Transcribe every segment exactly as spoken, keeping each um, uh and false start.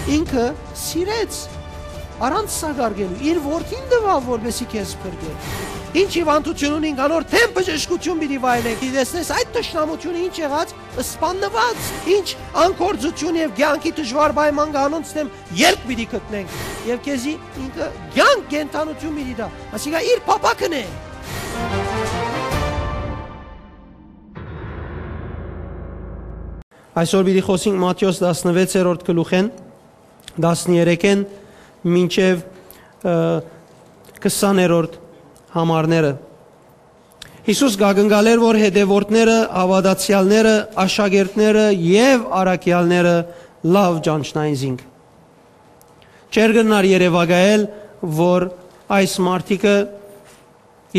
ինքը սիրեց, առանց սակարկելու, իր որդին տուաւ, որպեսզի քեզ փրկէ։ Ինչ հիւանդութիւն ունինք, անոր դէմ բժշկութիւն պիտի վայելենք։ Դի տեսնես, այդ թշնամութիւնը ինչ եղած, սպաննուած, ինչ անգործութիւն եւ կեանքի դժուար պայման կա, անոնց դէմ ելք պիտի գտնենք։ Եւ քեզի ինքը կեանք, կենդանութիւն պիտի տայ, ասիկա իր փափաքն է։ Այսօր պիտի խօսենք Մատթէոս տասնվեցերորդ գլուխէն, տասներեքէն մինչեւ, ը, քսաներորդ համարները։ Յիսուս կ'ակնկալէր, որ հետեւորդները, հաւատացեալները, աշակերտները եւ առաքեալները լաւ ճանչնային զինք։ Չէր կրնար երեւակայել, որ այս մարդիկը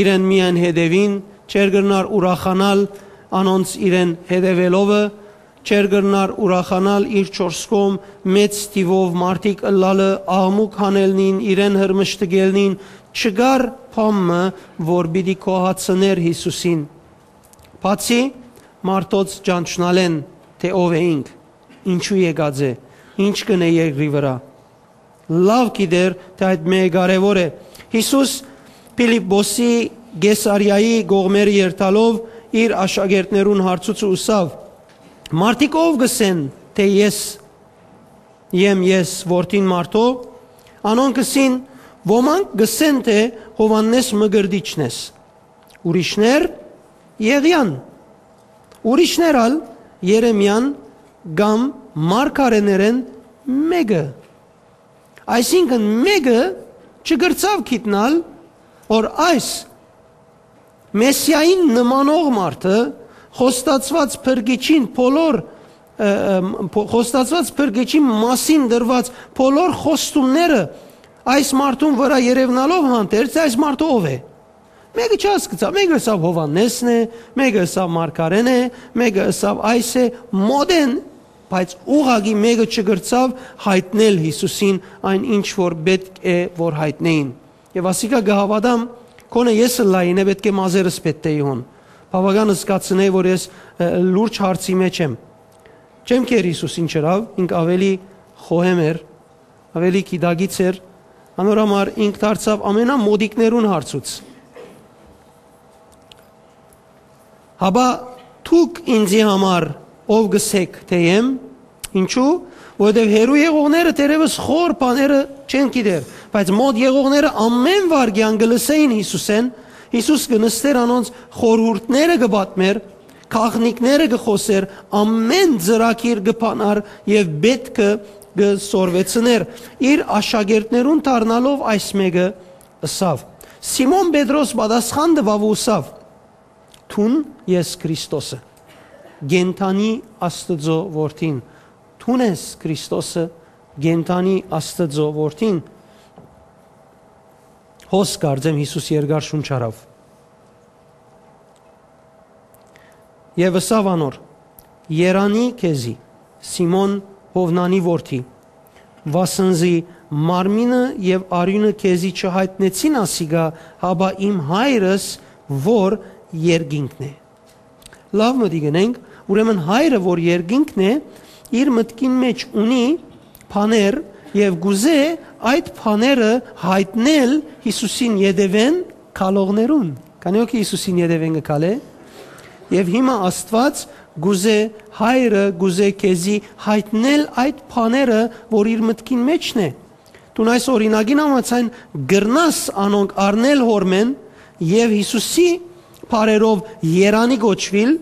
իրեն միայն հետեւին, չէր կրնար ուրախանալ անոնց իրեն հետեւելովը, չէր կրնար ուրախանալ իր չորս կողմ մեծ թիւով մարդիկ ըլլալը, աղմուկ հանելնին, իրեն հրմշտկելնին, չկար բան մը, որ պիտի գոհացնէր Յիսուսին, բացի մարդոց ճանչնալէն, թէ ով է ինք, ինչու եկած է, ինչ կ'ընէ երկրի վրայ։ Լաւ գիտեր, թէ այդ մէկը կարեւոր է։ Յիսուս Փիլիպպոսի Կեսարիայի կողմերը երթալով իր աշակերտներուն հարցուց ու ըսաւ. «Մարդիկ ո՞վ կ'ըսեն, թէ ես եմ, ես որդին մարդոյ»։ Անոնք ըսին. «Ոմանք կ'ըսեն, թէ Յովհաննէս Մկրտիչն ես, ուրիշներ՝ Եղիան, ուրիշներ ալ՝ Երեմիան կամ մարգարէներէն մէկը»։ Այսինքն՝ մէկը չկրցաւ գիտնալ, որ այս Մեսիային նմանող մարդը, խոստացուած փրկիչին բոլոր, ը, ը, փո-, խոստացուած փրկիչին մասին դրուած բոլոր խոստումները այս մարդուն վրայ երեւնալով հանդերձ, այս մարդը ով է։ Մէկը չհասկցաւ, մէկը ըսաւ Յովհաննէսն է, մէկը ըսաւ մարգարէն է, մէկը ըսաւ այս է, մօտէն, բայց ուղղակի մէկը չկրցաւ յայտնել Յիսուսին այն, ինչ որ պէտք է որ յայտնէին։ Եւ ասիկա կը հաւատամ, քոնը ես ըլլայինէ պէտք է մազերս պետտէի հոն։ Բաւական զգացնէի, որ ես, ը, լուրջ հարցի մէջ եմ։ Չեմ կեր Յիսուս ինչ ըրաւ, ինք ավելի խոհեմ էր, ավելի գիտակից էր, անոր համար ինք դարձաւ ամենամօտիկներուն հարցուց։ Հապա դուք ինծի համար ո՞վ կ'ըսէք, թէ եմ։ Ինչու՞, որովհետեւ հեռու եղողները դեռեւս խոր բաները չեն գիտեր, բայց մօտ եղողները ամէն վայրկեան կը լսէին Յիսուսէն, Յիսուս կը նստէր անոնց խորհուրդները կը պատմէր, գաղտնիքները կը խօսէր, ամէն ծրագիր կը բանար եւ պէտքը կը սորվեցնէր։ Իր աշակերտներուն դառնալով այս մէկը ըսաւ։ Սիմոն Պետրոս պատասխան տուաւ ու ըսաւ. «Դուն ես Քրիստոսը, կենդանի Աստուծոյ որդին։ Դուն ես Քրիստոսը, կենդանի Աստուծոյ որդին»։ Հոս կարծեմ Յիսուս երկար շունչ առաւ։ Եւ ըսաւ անոր. «Երանի քեզի, Սիմոն Յովնանի որդի, վասն զի մարմինը եւ արիւնը քեզի չյայտնեցին ասիկա, հապա իմ Հայրս, որ երկինքն է»։ Լաւ մտիկ ընենք, ուրեմն Հայրը, որ երկինքն է, իր մտքին մէջ ունի բաներ եւ կուզէ այդ բաները յայտնել Յիսուսին ետեւէն գալողներուն։ Քանի՞ հոգի Յիսուսին ետեւէն կը գալէ։ Եւ հիմա Աստուած կուզէ, Հայրը կուզէ քեզի յայտնել այդ բաները, որ իր մտքին մէջն է։ Դուն այս օրինակին համաձայն կրնաս անոնք առնել հօրմէն եւ Յիսուսի բառերով երանի կոչուիլ,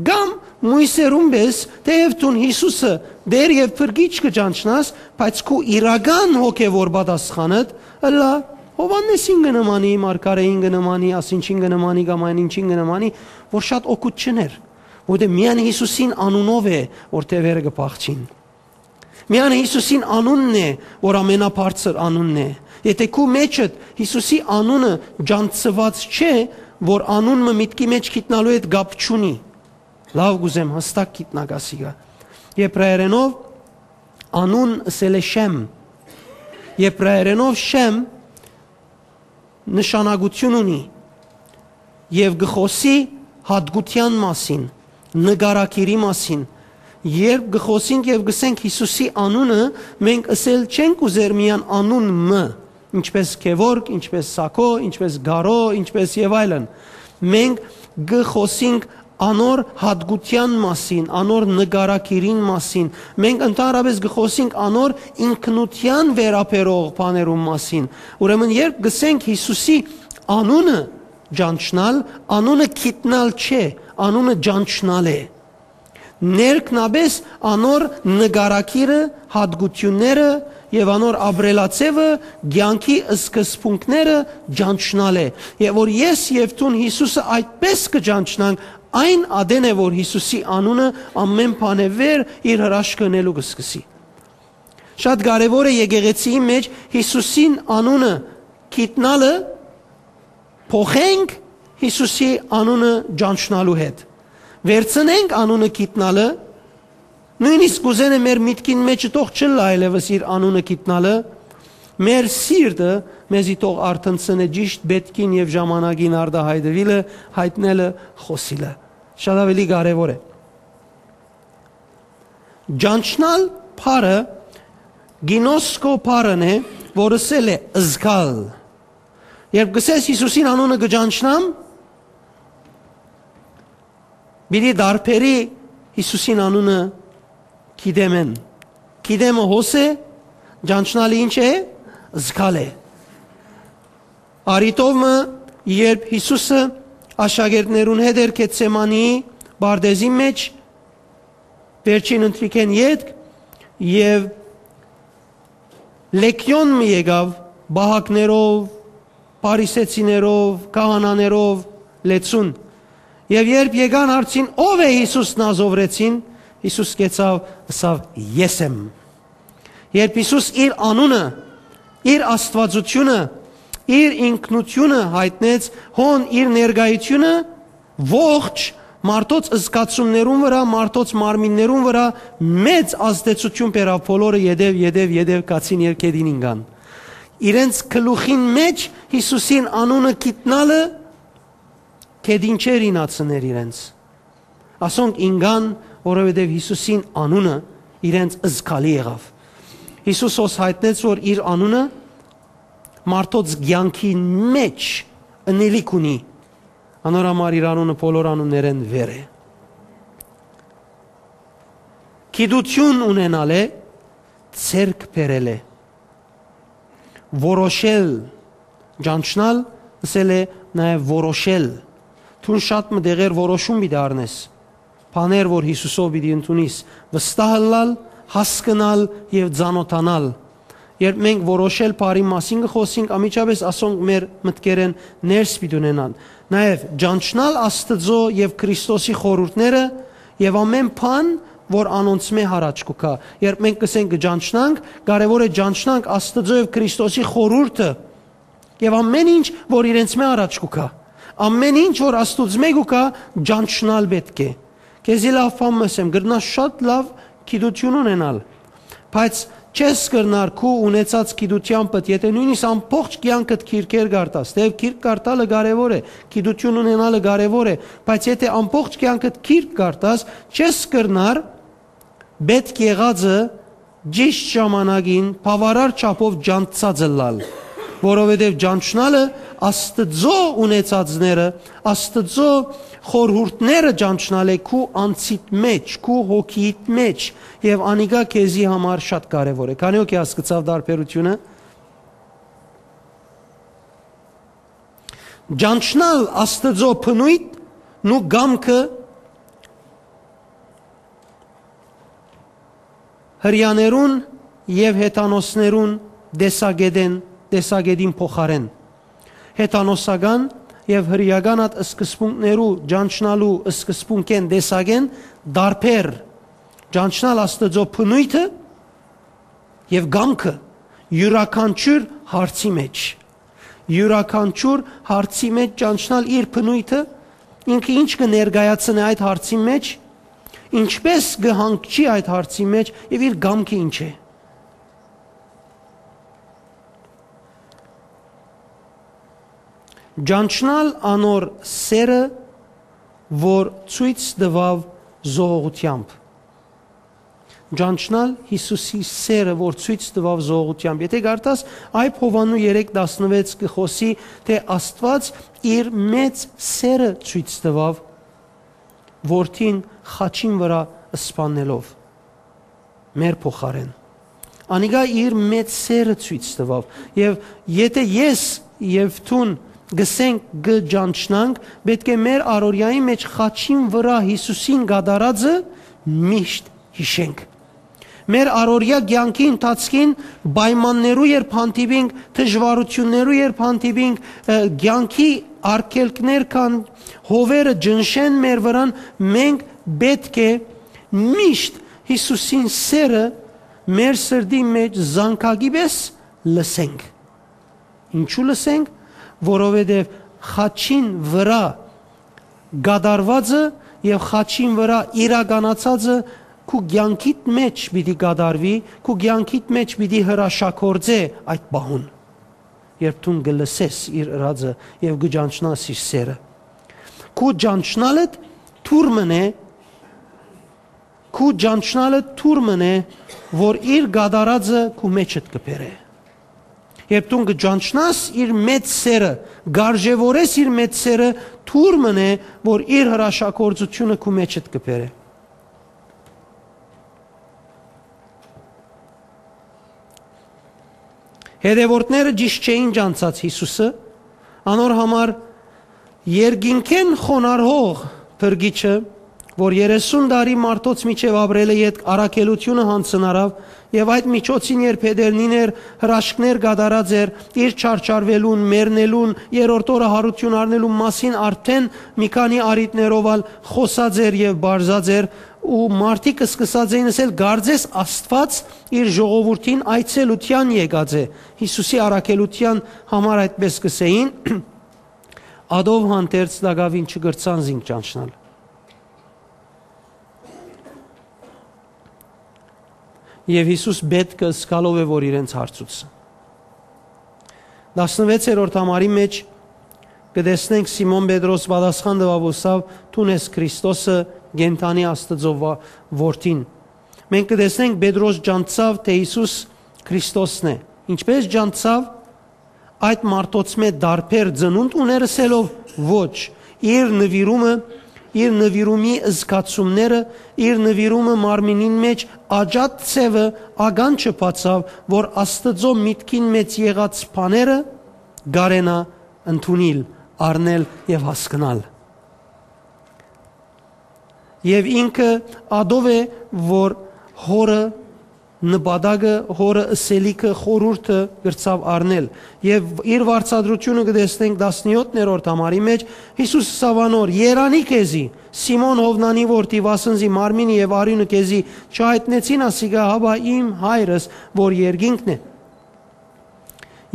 կամ մոյսերուն պէս, թէեւ դուն Յիսուսը Տէր եւ Փրկիչ կը ճանչնաս, բայց քու իրական հոգեւոր պատասխանդ ըլլայ Յովհաննէսին կը նմանի, մարգարէին կը նմանի, ասինչին կը նմանի կամ այն ինչին կը նմանի, որ շատ օգուտ չըներ, որտեղ միայն Յիսուսին անունով է, որ թեւերը կը փախչին։ Միայն Յիսուսին անունն է, որ ամենաբարձր անունն է։ Եթէ քու մեջդ Յիսուսի անունը ճանչցուած չէ, որ անուն մը միտքի մէջ գիտնալու հետ կապ չունի։ Լաւ կուզեմ հստակ գիտնաք ասիկա։ Եբրայերենով անուն ըսել է Շեմ։ Եբրայերենով Շեմ նշանակութիւն ունի եւ կը խօսի յատկութեան մասին, նկարագիրի մասին, Երբ կը խօսինք եւ կ'ըսենք Յիսուսի անունը, մենք ըսել չենք ուզեր միայն անուն մը, ինչպէս Գեորգ, ինչպէս Սակո, ինչպէս Գարո, ինչպէս եւ այլն։ Մենք կը խօսինք անոր յատկութեան մասին, անոր նկարագիրին մասին։ Մենք ընդհանրապէս կը խօսինք անոր ինքնութեան վերաբերող բաներուն մասին։ Ուրեմն, երբ կ'ըսենք Յիսուսի անունը ճանչնալ, անունը գիտնալ չէ, անունը ճանչնալ է։ Ներքնապէս անոր նկարագիրը, յատկութիւնները եւ անոր ապրելաձեւը, կեանքի սկզբունքները ճանչնալ է։ Եւ որ ես եւ դուն Յիսուսը այդպէս կը ճանչնանք, այն ատեն է, որ Յիսուսի անունը ամէն բանէ վեր իր հրաշքը ընելու կը սկսի։ Շատ կարեւոր է եկեղեցիի մէջ Յիսուսին անունը գիտնալը փոխենք Յիսուսի անունը ճանչնալու հետ։ Վերցնենք անունը գիտնալը, նոյնիսկ կ'ուզենէ մեր միտքին մէջ թող չըլլայ այլեւս իր անունը գիտնալը, մեր սիրտը մեզի թող արթնցնէ ճիշդ պէտքին եւ ժամանակին արտահայտուիլը, յայտնելը, խօսիլը։ Շատ աւելի կարեւոր է։ Ճանչնալ բառը գինոսկո բառն է, որ ըսել է զգալ։ Երբ կ'ըսես Յիսուսին անունը կը ճանչնամ, պիտի դարբերի Յիսուսին անունը գիտեմէն։ Գիտեմը հոս է, ճանչնալը ինչ է, զգալ է։ Արիտով մը, երբ Յիսուսը աշակերտներուն հետ էր Գեթսեմանի պարտեզի մէջ, վերջին ընթրիքէն ետք, եւ լեգիոն մը եկաւ պահակներով, փարիսեցիներով, քահանաներով լեցուն։ Եւ երբ եկան, հարցին, «Ո՞վ է Յիսուս Նազովրեցին», Յիսուս կեցաւ, ըսաւ. «Ես եմ»։ Երբ Յիսուս իր անունը, իր աստվածությունը, իր ինքնությունը յայտնեց, հոն իր ներկայությունը, ողջ մարդոց զգացումներուն վրայ, մարդոց մարմիններուն վրայ մեծ ազդեցություն բերաւ, բոլորը ետեւ, ետեւ, ետեւ գացին եւ գետին ինկան։ Իրենց գլուխին մէջ Յիսուսին անունը գիտնալը գետին չէր ինացներ իրենց։ Ասոնք ինկան, որովհետեւ Յիսուսին անունը իրենց զգալի եղաւ։ Յիսուս հոս յայտնեց, որ իր անունը մարդոց կեանքին մէջ ընելիք ունի, անոր համար իր անունը բոլոր անուններէն վեր է։ Գիտութիւն ունենալ է, ձեռք բերել է։ Որոշել, ճանչնալ, ըսել է նաեւ որոշել։ Դուն շատ մը տեղեր որոշում պիտի առնես, բաներ, որ Յիսուսով պիտի ընդունիս, վստահ ըլլալ, հասկնալ եւ ծանօթանալ։ Երբ մենք որոշել բառի մասին կը խօսենք, անմիջապէս ասոնք մեր մտքերէն ներս պիտի ունենան։ Նաեւ ճանչնալ Աստուծոյ եւ Քրիստոսի խորհուրդները եւ ամէն բան, որ անոնցմէ յառաջ կու գայ։ Երբ մենք կ'ըսենք կը ճանչնանք, կարեւոր է ճանչնանք Աստուծոյ եւ Քրիստոսի խորհուրդը եւ ամէն ինչ, որ իրենցմէ յառաջ կու գայ։ Ամէն ինչ, որ Աստուծմէ կու գայ, ճանչնալ պէտք է։ Քեզի լաւ բան մը ըսեմ, կրնաս շատ լաւ գիտութիւն ունենալ, բայց չես կրնար քու ունեցած գիտութեամբդ, եթէ նոյնիսկ ամբողջ կեանքդ գիրքեր կարդաս, թէեւ գիրք կարդալը կարեւոր է, գիտութիւն ունենալը կարեւոր է, բայց եթէ ամբողջ կեանքդ գիրք կարդաս, չես կրնար պէտք եղածը ճիշդ ժամանակին բաւարար չափով ճանչցած ըլլալ, որովհետեւ ճանչնալը Աստուծոյ ունեցածները, Աստուծոյ խորհուրդները ճանչնալ է քու անձիդ մէջ, քու հոգիիդ մէջ, եւ անիկա քեզի համար շատ կարեւոր է։ Քանի՞ հոգի հասկցաւ տարբերութիւնը։ Ճանչնալ Աստուծոյ բնոյթն ու կամքը հրեաներուն եւ հեթանոսներուն տեսակետին, տեսակետին փոխարէն։ Հեթանոսական եւ հրեական այդ սկզբունքներու ճանչնալու սկզբունքէն, տեսակէն տարբեր։ Ճանչնալ Աստուծոյ բնոյթը եւ կամքը յուրաքանչիւր հարցի մէջ։ Յուրաքանչիւր հարցի մէջ ճանչնալ իր բնոյթը, ինքը ինչ կը ներկայացնէ այդ հարցի մէջ, ինչպէս կը հանգչի այդ հարցի մէջ եւ իր կամքը ինչ է։ Ճանչնալ անոր սերը, որ ցոյց տուաւ զոհողութեամբ։ Ճանչնալ Յիսուսի սերը, որ ցոյց տուաւ զոհողութեամբ։ Եթէ կարդաս, Այբ Յովհաննու երեք տասնուեց կը խօսի, թէ Աստուած իր մեծ սերը ցոյց տուաւ, որդին խաչին վրայ սպանելով մեր փոխարէն։ Անիկա իր մեծ սերը ցոյց տուաւ։ Եւ եթէ ես եւ դուն գսենք, կը ճանչնանք, պէտք է մեր առօրեայի մէջ խաչին վրայ Յիսուսին կատարածը միշտ յիշենք։ Մեր առօրեայ կեանքի ընթացքին պայմաններու երբ հանդիպինք, դժուարութիւններու երբ հանդիպինք, ը, կեանքի արգելքներ կան, հովերը ճնշեն մեր վրան, մենք պէտք է միշտ Յիսուսին սերը մեր սրտի մէջ զանգակի պէս լսենք։ Ինչու՞ լսենք, որովհետեւ խաչին վրայ կատարուածը եւ խաչին վրայ իրականացածը քու կեանքիդ մէջ պիտի կատարուի, քու կեանքիդ մէջ պիտի հրաշագործէ այդ պահուն, երբ դուն կը լսես իր ըրածը եւ կը ճանչնաս իր սերը։ Քու ճանչնալդ թուր մըն է, քու ճանչնալդ թուր մըն է, որ իր կատարածը քու մէջդ կը բերէ։ Երբ դուն կը ճանչնաս իր մեծ սերը, կ'արժեւորես իր մեծ սերը, թուր մըն է, որ իր հրաշագործութիւնը քու մէջդ կը բերէ։ Հետեւորդները ճիշտ չէին ճանչցած Յիսուսը, անոր համար երկինքէն խոնարհող փրկիչը, որ երեսուն տարի մարդոց միջեւ ապրելը ետք առաքելութիւնը յանձնարաւ, եւ այդ միջոցին, երբ Հեդերնին էր, հրաշքներ կատարած էր, իր չարչարուելուն, մեռնելուն, երրորդ օրը յարութիւն առնելուն մասին արդէն մի քանի առիթներով ալ խօսած էր եւ պարզած էր, ու մարդիկ սկսած էին ըսել. «Կարծես Աստուած իր ժողովուրդին այցելութեան եկած է»։ Յիսուսի առաքելութեան համար այդպէս կ'ըսէին, ատով հանդերձ տակաւին չկրցան զինք ճանչնալ։ Եւ Յիսուս պէտքը զգալով է, որ իրենց հարցուց։ Տասնուեցերորդ համարի մէջ կը տեսնենք Սիմոն Պետրոս պատասխան տուաւ ու ըսաւ. «Դուն ես Քրիստոսը, կենդանի Աստուծոյ վա-, որդին»։ Մենք կը տեսնենք Պետրոս ճանչցաւ, թէ Յիսուս Քրիստոսն է։ Ինչպէս ճանչցաւ, այդ մարդոցմէ տարբեր ծնունդ ուներ ըսելով, ոչ, իր նուիրումը, իր նուիրումի զգացումները, իր նուիրումը մարմինին մէջ աճած ձեւը, ականջը բացաւ, որ Աստուծոյ միտքին մէջ եղած բաները կարենայ ընդունիլ, առնել եւ հասկնալ։ Եւ ինքը ատով է, որ հորը նպատակը, հորը ըսելիքը, խորհուրդը կրցաւ առնել։ Եւ իր վարձատրութիւնը կը տեսնենք տասնեօթերորդ համարի մէջ, Յիսուս ըսաւ անոր. «Երանի քեզի, Սիմոն Յովնանի որդի, վասն զի մարմինը եւ արիւնը քեզի չյայտնեցին ասիկա, հապա իմ Հայրս, որ երկինքն է։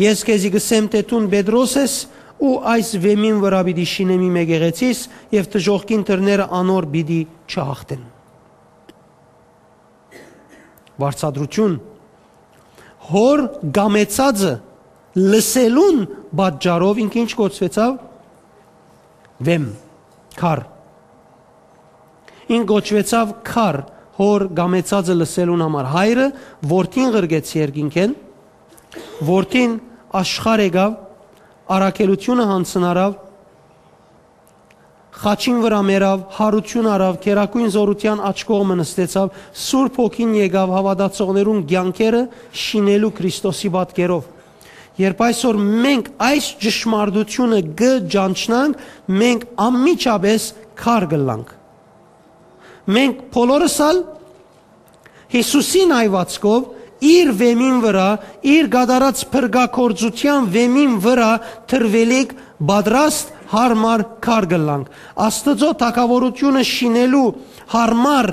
Ես քեզի կ'ըսեմ, թէ դուն Պետրոս ես, ու այս վեմին վրայ պիտի շինեմ իմ եկեղեցիս, եւ դժոխքին դռները անոր պիտի չյաղթեն»։ Վարձատրութիւն։ Հոր կամեցածը լսելուն պատճառով ինքը ինչ կոչուեցաւ։ Վեմ, քար։ Ինք կոչուեցաւ քար, հոր կամեցածը լսելուն համար։ Հայրը որդին ղրկեց երկինքէն, որդին աշխարհ եկաւ, առաքելութիւնը յանձնարաւ, խաչին վրայ մեռաւ, յարութիւն առաւ, գերագոյն զօրութեան աջ կողմը նստեցաւ, Սուրբ Հոգին եկաւ հաւատացողներուն կեանքերը շինելու Քրիստոսի պատկերով։ Երբ այսօր մենք այս ճշմարտութիւնը կը ճանչնանք, մենք անմիջապէս քար կ'ըլլանք։ Մենք բոլորս ալ Յիսուսին հայուածքով, իր վեմին վրայ, իր կատարած փրկագործութեան վեմին վրայ դրուելիք պատրաստ յարմար քար կ'ըլլանք։ Աստուծոյ թագաւորութիւնը շինելու յարմար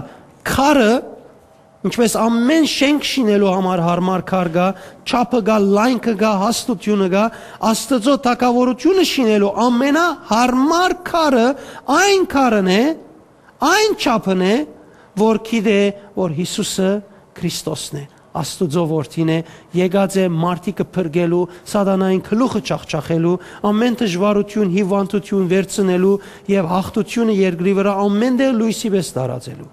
քարը, ինչպես ամէն շենք շինելու համար յարմար քար կայ, չափը կայ, լայնքը կայ, հաստութիւնը կայ, Աստուծոյ թագաւորութիւնը շինելու ամենահարմար քարը այն քարն է, այն չափն է, որ գիտէ, որ Յիսուսը Քրիստոսն է, Աստուծոյ որդին է, եկած է մարդիկը փրկելու, սատանային գլուխը չախչախելու, ամէն դժուարութիւն, հիւանդութիւն վերցնելու եւ յաղթութիւնը երկրի վրայ ամէն տեղ լոյսի պէս տարածելու։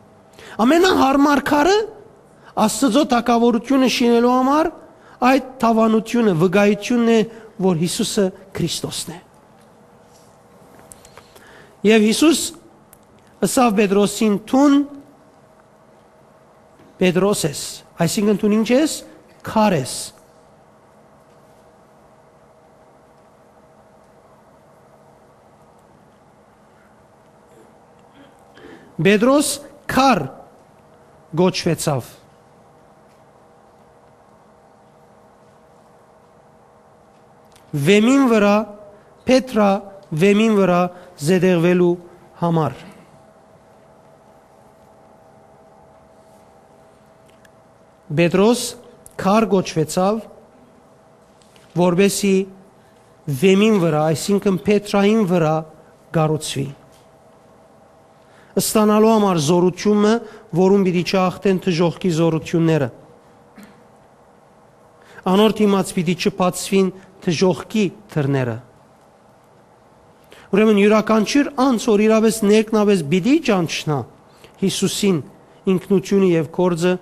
Ամենահարմար քարը Աստուծոյ թագաւորութիւնը շինելու համար այդ դաւանութիւնը, վկայութիւնն է, որ Յիսուսը Քրիստոսն է։ Եւ Յիսուս ըսաւ Պետրոսին. «Դուն Պետրոս ես», այսինքն դուն ինչ ես, քար ես։ Պետրոս քար կոչուեցաւ։ Վեմին վրայ, Պետրա վեմին վրայ զետեղուելու համար։ Պետրոս քար կոչուեցաւ, որպեսզի վեմին վրայ, այսինքն Պետրային վրայ կառուցուի, ստանալու համար զօրութիւնը, որուն պիտի չհաղթեն դժոխքի զօրութիւնները։ Անոր դիմաց պիտի չբացուին դժոխքի դռները։ Ուրեմն յուրաքանչիւր անձ, որ իրապէս ներքնապէս պիտի ճանչնայ Յիսուսին, ինքնութիւնը եւ գործը,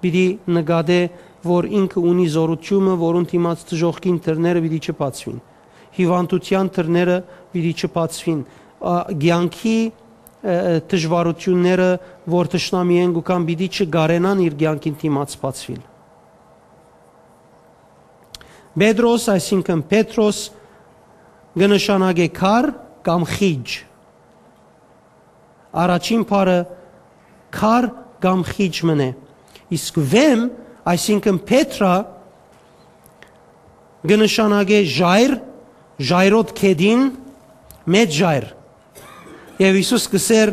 պիտի նկատէ, որ ինքը ունի զօրութիւնը, որուն դիմաց դժոխքին դռները պիտի չբացուին, հիւանդութեան դռները պիտի չբացուին, ա, կեանքի, ը, ը, դժուարութիւնները, որ թշնամիէն կու գան, պիտի չկարենան իր կեանքին դիմաց բացուիլ։ Պետրոս, այսինքն Պետրոս, կը նշանակէ քար կամ խիճ։ Առաջին բառը քար կամ խիճ մըն է։ Իսկ վեմ, այսինքն Պետրա, կը նշանակէ ժայռ, ժայռոտ գետին, մեծ ժայռ։ Եւ Յիսուս կ'ըսէր.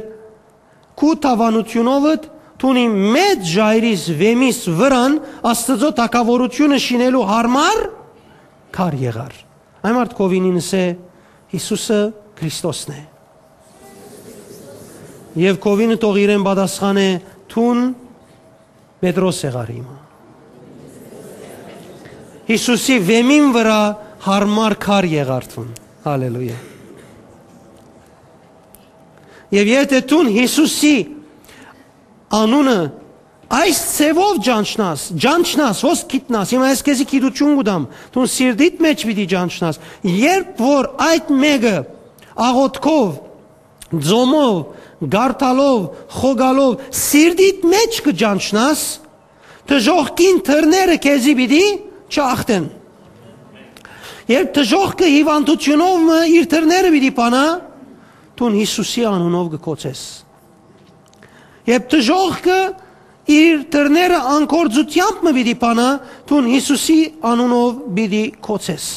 «Քու դաւանութիւնովդ դուն իմ մեծ ժայռիս վեմիս վրան Աստուծոյ թագաւորութիւնը շինելու յարմար քար եղար»։ Այն մարդ քովինին ըսէ. «Յիսուսը Քրիստոսն է»։ Եւ քովինը թող իրեն պատասխանէ. «Դուն Պետրոս եղար հիմա»։ Յիսուսի վեմին վրայ յարմար քար եղար դուն։ Հալելույա։ Եւ եթե դուն Յիսուսի անունը այս ձևով ճանչնաս, ճանչնաս, հոս գիտնաս, հիմա ես քեզի գիտութիւն կու տամ, դուն սիրտիդ մէջ պիտի ճանչնաս, երբ որ այդ մէկը աղօթքով, ձոմով, գարթալով, խոկալով, սիրտիդ մէջ կը ճանչնաս, դժոխքին դռները քեզի պիտի չախտեն։ Երբ դժոխքը հիվանդութիւնով մը իր դռները պիտի բանայ, դուն Յիսուսի անունով կը կոչես։ Երբ դժոխքը իր դռները անկործութեամբ մը պիտի բանայ, դուն Յիսուսի անունով պիտի կոչես։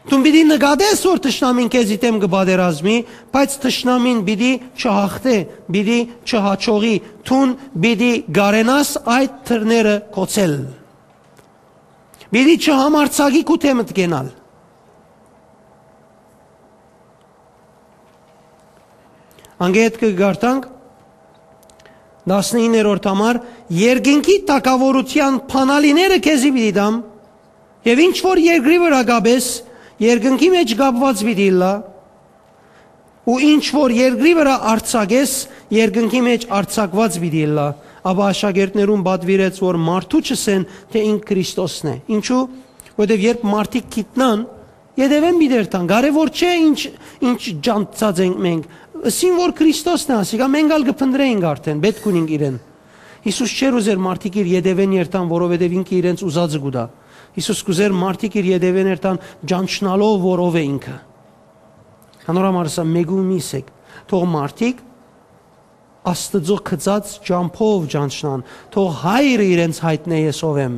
Դուն պիտի նկատես, որ թշնամին քեզի դէմ կը պատերազմի, բայց թշնամին պիտի չհաղթէ, պիտի չհաջողի, դուն պիտի կարենաս այդ դռները կոչել։ Պիտի չհամարձակի քու դէմդ կենալ։ Անգետ կը կարդանք, տասնիններորդ համար. «Երկնքի թագաւորութեան բանալիները քեզի պիտի տամ, եւ ինչ որ երկրի վրայ կապես, երկնքի մէջ կապուած պիտի ըլլայ, ու ինչ որ երկրի վրայ արձակես, երկնքի մէջ արձակուած պիտի ըլլայ»։ Ապա աշակերտներուն պատուիրեց, որ մարդու չըսեն, թէ ինք Քրիստոսն է։ Ինչու՞։ Որտեւ երբ մարդիկ գիտնան, ետեւէն պիտի երթան։ Կարեւոր չէ ինչ, ինչ ճանչցած ենք մենք։ Ըսին որ Քրիստոսն է ասիկա, մենք ալ կը փնտռենք արդեն, պէտք ունենք իրեն։ Յիսուս չէր ուզեր մարդիկ իր ետեւէն երթան, որովհետեւ ինքը իրենց ուզածը կու տայ։ Յիսուս կ'ուզեր մարդիկ իր ետեւէն երթան ճանչնալով, որ ով է ինքը։ Անոր համար ըսա, մեկու միս եք, թող մարդիկ Աստուծոյ գծած ճամբով ճանչնան, թող Հայրը իրենց յայտնէ ես ով եմ։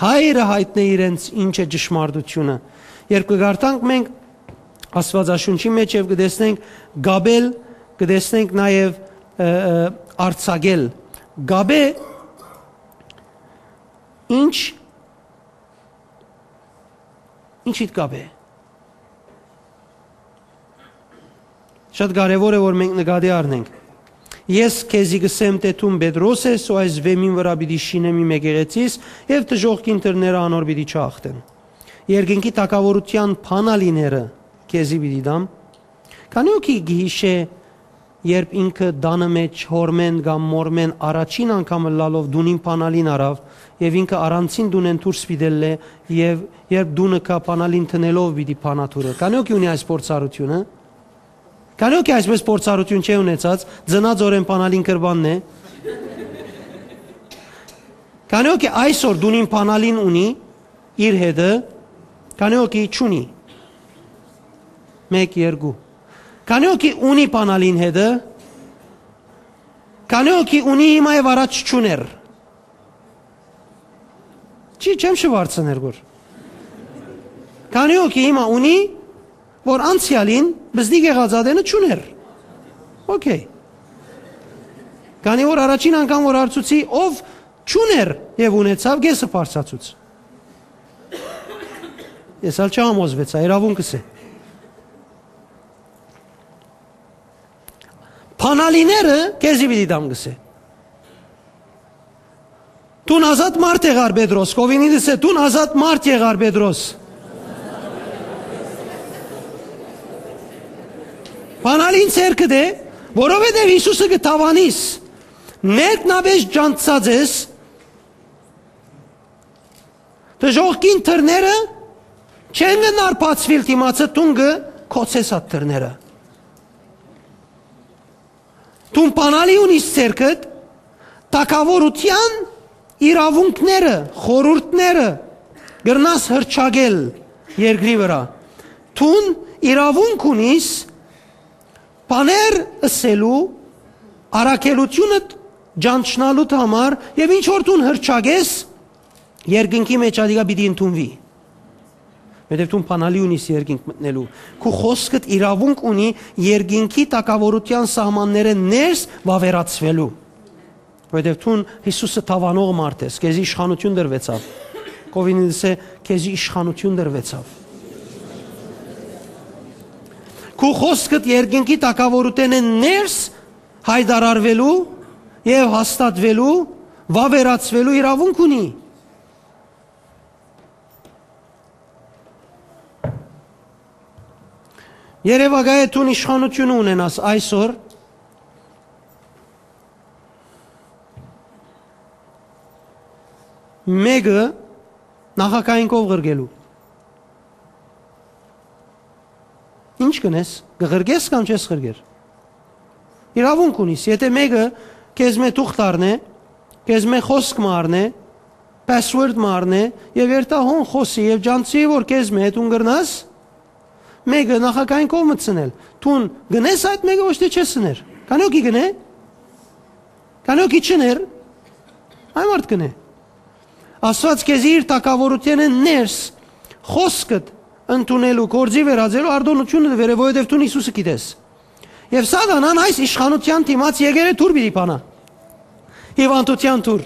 Հայրը յայտնէ իրենց ինչ է ճշմարտությունը։ Երբ կը կարդանք մենք Աստուածաշունչի մեջ եւ կը տեսնենք կապել, կը տեսնենք նաեւ, ը, ը, արձակել։ Կապե, ինչ, ինչ իդ կապ է։ Շատ կարեւոր է, որ մենք նկատի առնենք։ «Ես քեզի կ'ըսեմ, թէ դուն Պետրոս ես, ու այս վեմին վրայ պիտի շինեմ իմ եկեղեցիս, եւ դժոխքին դռները անոր պիտի չախտեն»։ Երկնքի թագաւորութեան բանալիները քեզի պիտի տամ։ Քանի՞ հոգի կը յիշէ երբ ինքը տանը մէջ հօրմէն կամ մօրմէն առաջին անգամ ըլլալով տունին բանալին առաւ, եւ ինքը առանցին տունէն դուրս պիտի ելլէ, եւ երբ տունը կայ բանալին դնելով պիտի բանա դուռը։ Քանի՞ հոգի ունի այս փորձառութիւնը։ Քանի՞ հոգի այսպէս փորձառութիւն չէ ունեցած, ծնած օրէն բանալին կրպանն է։ Քանի՞ հոգի այսօր տունին բանալին ունի իր հետը, քանի՞ հոգի չունի։ Մէկ, երկու։ Քանի՞ հոգի ունի բանալին հետը, քանի՞ հոգի ունի հիմա եւ առաջ չուներ։ Չի, չեմ շուարցներ գոր։ Քանի՞ հոգի հիմա ունի, որ անցեալին բզդիկ եղած ատենը չուներ։ Օքեյ։ Քանի՞ որ առաջին անգամ որ հարցուցի, ով չուներ եւ ունեցաւ, կէսը բարձացուց։ Ես ալ չհամոզվեցայ, իրաւունքս է։ Բանալիները քեզի պիտի տամ, կ'ըսէ։ Դուն ազատ մարդ եղար, Պետրոս, Կովինիտս է, դուն ազատ մարդ եղար, Պետրոս։ Բանալին ձեռքդ է, որովհետեւ Յիսուսը կը դաւանիս, ներքնապէս ճանչցած ես, դժոխքին դռները չեն գնար բացուիլ դիմացը, դուն կը գոցես այդ դռները։ Դուն բանալի ունիս ձեռքդ, թագաւորութեան իրաւունքները, խորհուրդները կրնաս հռչակել երկրի վրայ։ Դուն իրաւունք ունիս բաներ ըսելու, առաքելութիւնդ ճանչնալուդ համար, եւ ինչ որ դուն հռչակես, երկնքի մէջ ատիկա պիտի ընդունուի։ Որովհետեւ դուն բանալի ունիս երկինք մտնելու։ Քու խօսքդ իրաւունք ունի երկինքի թագաւորութեան սահմաններէն ներս վաւերացուելու։ Որովհետեւ դուն Յիսուսը դաւանող մարդ ես, քեզի իշխանութիւն տրուեցաւ։ Կովինիտս է, քեզի իշխանութիւն տրուեցաւ։ Քու խօսքդ երկինքի թագաւորութենէն ներս յայտարարուելու եւ հաստատուելու, վաւերացուելու իրաւունք ունի։ Երեւակայ է դուն իշխանութիւնը ունենաս այսօր, մէկը նախագահին կով ղրկելու։ Ինչ կ'ընես, կը ղրկես կամ չես ղրկեր։ Իրաւունք ունիս, եթէ մէկը քեզմէ թուղթ առնէ, քեզմէ խօսք մը առնէ, password մը առնէ, եւ երթայ հոն խօսի եւ ճանչցի, որ քեզմէ դուն կրնաս մէկը նախագահին կողմը ցնել։ Դուն կ'ընես այդ մէկը, ոչ թէ չես ըներ։ Քանի՞ հոգի կ'ընէ։ Քանի՞ հոգի չ'ըներ։ Այն մարդ կ'ընէ։ Աստուած քեզի իր թագաւորութենէն ներս խօսքդ ընդունելու, գործի վերածելու արտօնութիւնը կ'ընէ, որովհետեւ դուն Յիսուսը գիտես։ Եւ սատանան այս իշխանութեան դիմաց եկել է դուռ պիտի բանայ։ Հիւանդութեան դուռ։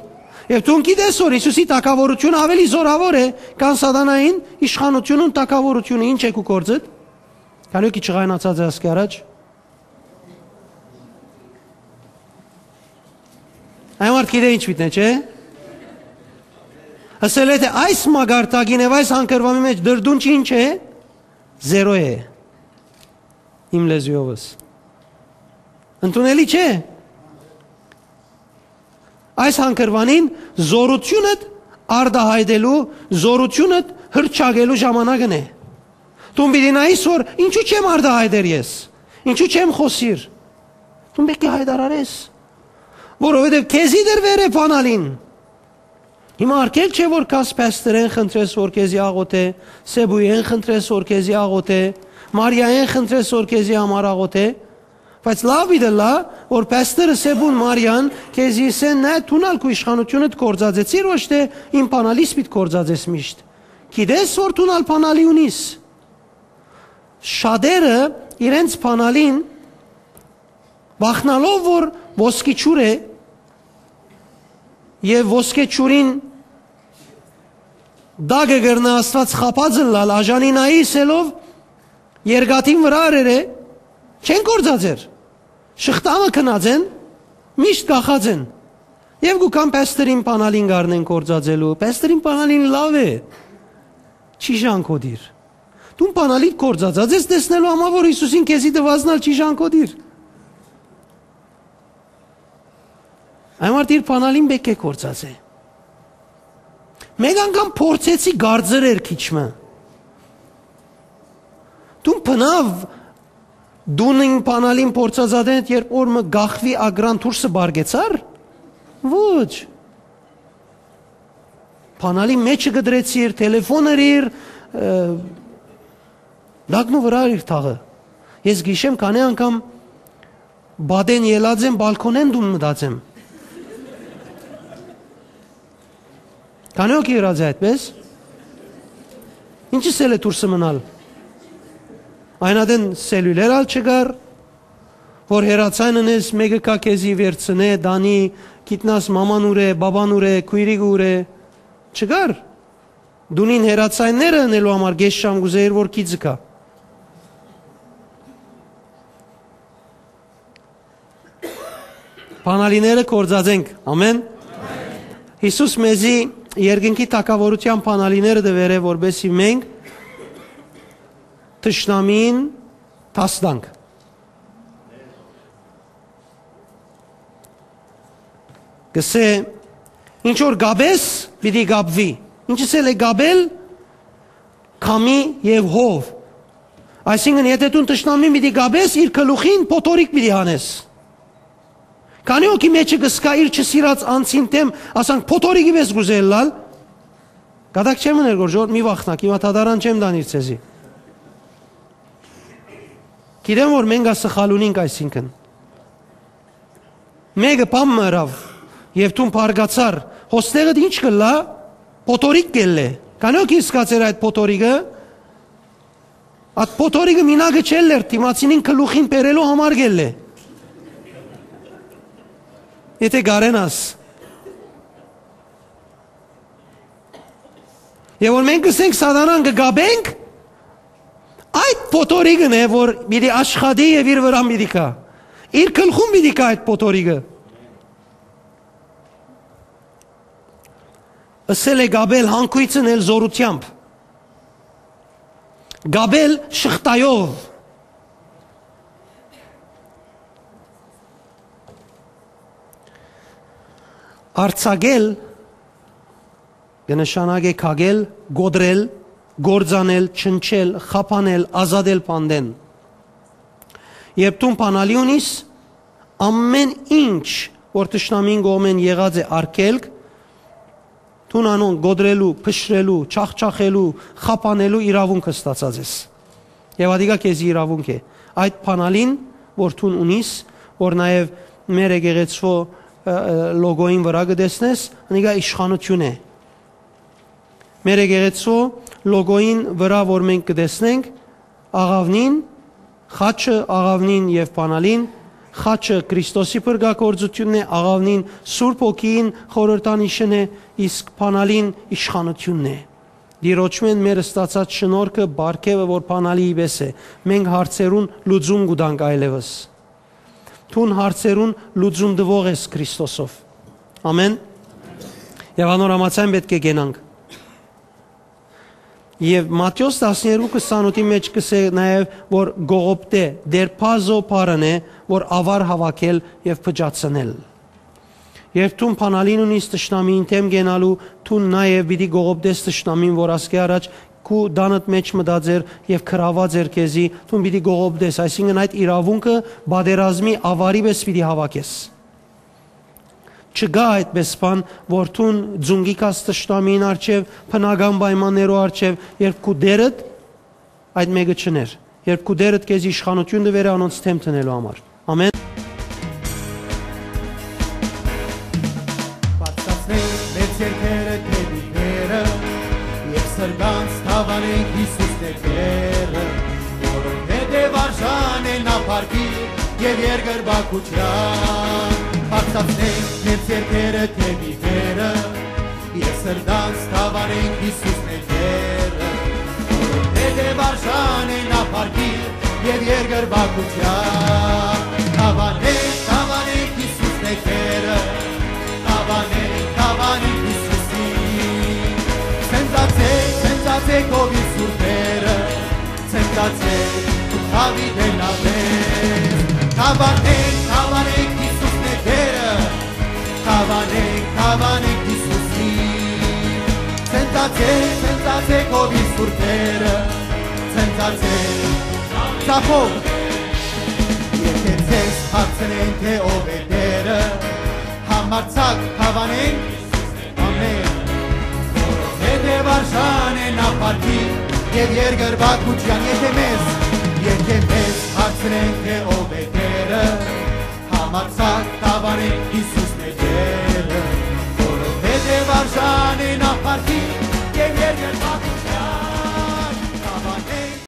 Եւ դուն գիտես, որ Յիսուսի թագաւորութիւնը աւելի զօրաւոր է, քան սատանային իշխանութիւնն ու թագաւորութիւնը։ Ի՞նչ է քու գործդ։ Քանի՞ հոգի ջղայնացած է ասկի առաջ։ Այն մարդ գիտէ ինչ միտն է, չէ՞։ Ասել է, թէ այս մակարդակին եւ այս հանգրուանի մէջ դրդուն չի, ինչ է, զերո է։ Իմ լեզուովս։ Ընդունելի չէ՞։ Այս հանգրուանին զորութիւնդ արտահայտելու, զորութիւնդ հրճակելու ժամանակն է։ Դուն պիտի նայես, որ ինչու՞ չեմ արտահայտեր ես, ինչու՞ չեմ խօսիր։ Դուն պէտք է հայտարարես, որովհետեւ քեզի դրուեր է բանալին։ Հիմա արգել չէ, որ գաս փեստերէն խնդրես, որ քեզի աղոթէ, սեբույեն խնդրես, որ քեզի աղոթէ, Մարիայեն խնդրես, որ քեզի համար աղոթէ, բայց լաւ պիտի ըլլայ, որ փեստերը, սեբուն, Մարիան քեզի ըսեն, նայ, դուն ալ քու իշխանութիւնդ կործածեցիր, ոչ թէ իմ բանալիս պիտի կործածես միշտ։ Գիտես, որ դուն ալ բանալի ունիս։ Շատերը իրենց բանալին վախնալով, որ ոսկի ջուր է, եւ ոսկե ջուրին տակը կրնայ Աստուած խաբած ըլլալ, աժանի նայ ըսելով, երկաթին վրայ արեր է, չեն կործածեր։ Շղթամը գնած են, միշտ կախած են։ Եւ կու գան փեստերին բանալին կ'առնեն կործածելու, փեստերին բանալին լաւ է, չի ժանգոտիր։ Դուն բանալին կործածած ես տեսնելու համար, որ Յիսուսին քեզի տուածն ալ չի ժանգոտիր։ Այն համար իր բանալին պէտք է գործածէ։ Մէկ անգամ փորձեցի, կարծեր էր քիչ մը։ Դուն բնաւ դունին բանալին փորձածատենդ, երբ օր մը գախվի ակրան դուրսը բարգեցար։ Ոչ։ Բանալին մեջը կդրեցիր, թելեֆոնը իր, ը, դակնու վրա իր թաղը։ Ես գիշեմ քանի անգամ բադեն ելած եմ, բալքոնեն դուն մտած եմ։ Քանի օքի ըրած է այդպես։ Ինչս էլ է դուրսը մնալ։ Այն ատեն սելուլեր ալ չկար, որ հեռացան ընես, մէկը կա քեզի վերցնէ, դանի, գիտնաս մաման ուր է, բաբան ուր է, քոյրիկ ուր է, չկար։ Դունին հեռացայինները ընելու համար կես շամ կուզեիր, որ գիծը կա։ Բանալիները կործածենք։ Ամեն։ Յիսուս մեզի երկնքի թագաւորութեան բանալիները տուեր է, որպեսզի մենք թշնամին դաս տանք։ Կսե, ինչ որ կապես, պիտի կապուի։ Ինչս էլ է կապել, քամի եւ հով։ Այսինքն, եթե դուն թշնամին պիտի կապես, իր գլուխին փոթորիկ պիտի հանես։ Քանի օքի մեջը կսկա իր չսիրած անձին դեմ, ասանք, փոթորիկի պես կուզե ըլլալ, կատակ չեմ ըներ, որ ժողովուրդ մի վախնաք, հիմա դատարան չեմ տանիր ձեզի։ Գիտեմ, որ մենք ա սխալ ունինք, այսինքն։ Մէկը բան մը ըրաւ, եւ դուն բարկացար, հոստեղդ ինչ կլա, փոթորիկ կելլե։ Քանի օքի սկած էր այդ փոթորիկը, այդ փոթորիկը մինակը չելլեր, դիմացինին գլուխին բերելու համար կելլե։ Եթե կարենաս։ Եւ որ մենք կսենք սատանան կկապենք, այդ փոթորիկն է, որ պիտի աշխատի եւ իր վրան պիտի գա։ Իր գլխուն պիտի գա այդ փոթորիկը։ Ըսել է կապել հանգոյցն էլ զորութեամբ։ Կապել շղթայով։ Արձակել կը նշանակէ քակել, կոտրել, կործանել, չնչել, խափանել, ազատել բանտէն։ Երբ դուն բանալի ունիս, ամէն ինչ, որ թշնամին կողմէն եղած է արգելք, դուն անոնք կոտրելու, փշրելու, չախչախելու, խափանելու իրաւունքը ստացած ես։ Եւ ատիկա քեզի իրաւունք է։ Այդ բանալին, որ դուն ունիս, որ նաեւ մեր եկեղեցւոյ, ը, ը, լոգոյին վրայ կը տեսնես, անիկա իշխանութիւն է։ Մեր եկեղեցւոյ լոգոյին վրայ, որ մենք կը տեսնենք, աղաւնին, խաչը, աղաւնին եւ բանալին, խաչը Քրիստոսի փրկագործութիւնն է, աղաւնին Սուրբ Հոգին խորհրդանիշն է, իսկ բանալին իշխանութիւնն է։ Տիրոջմէն մեր ստացած շնորհքը, պարգեւը, որ բանալիի պէս է, մենք հարցերուն լուծում կու տանք այլեւս։ Դուն հարցերուն լուծում տուող ես Քրիստոսով։ Ամեն։ Եւ անոր համաձայն պէտք է կենանք։ Եւ Մատթէոս տասներկու քսանութի մէջ կսէ նաեւ, որ կողոպտէ, դերբազո բառն է, որ ավար հաւաքել եւ փճացնել։ Երբ դուն բանալին ունիս թշնամիին դէմ կենալու, դուն նաեւ պիտի կողոպտես թշնամին, որ ասկէ առաջ քու տանդ մէջ մտած էր եւ գրաւած էր քեզի, դուն պիտի կողոպտես, այսինքն, այդ իրաւունքը պատերազմի ավարի պէս պիտի հաւաքես։ Չկայ այդպէս բան, որ դուն ձունկի գաս թշնամիին առջեւ, բնական պայմաններու առջեւ, երբ քու Տէրդ այդ մէկը չըներ, երբ քու Տէրդ քեզի իշխանութիւն տուեր է անոնց դէմ դնելու համար։ Ամեն։ Բարձրացնենք մեր ձեռքերը դեպի Տէրը եւ սրտանց դաւանենք Յիսուսն է Տէրը, որովհետեւ արժան է նա փառքի եւ երկրպագության։ Բարձրացնենք մեր ձեռքերը դեպի Տէրը եւ սրտանց դաւանենք Յիսուսն է Տէրը, որովհետեւ արժան է նա փառքի եւ երկրպագության։ Դաւանենք, դաւանենք Յիսուսն է Տէրը, դաւանենք, դաւանենք Յիսուսին։ Ցնծացեք, ցնծացեք ով իր սուրբերը, ցնծացեք դուք Դաւիթ էլաւեր։ Դաւանենք, դաւանենք Յիսուսն է Տէրը, Դաւանենք Յիսուսին։ Ցնծացեք, ցնծացեք, ով իր սուրբերը, ցնծացեք, ծախով։ Եթե ձեզ հարցնեն, թե ով է Տերը, համարձակ դաւանենք, ամեն, որովհետև արժան է նա փառքի եւ երկրպագութեան, եթե մեզ, եթե մեզ հարցնեն, թե ով է Տերը, համարձակ դաւանենք, Յիսուսն է Տերը, որովհետև արժան է նա փառքի եւ երկրպագութեան։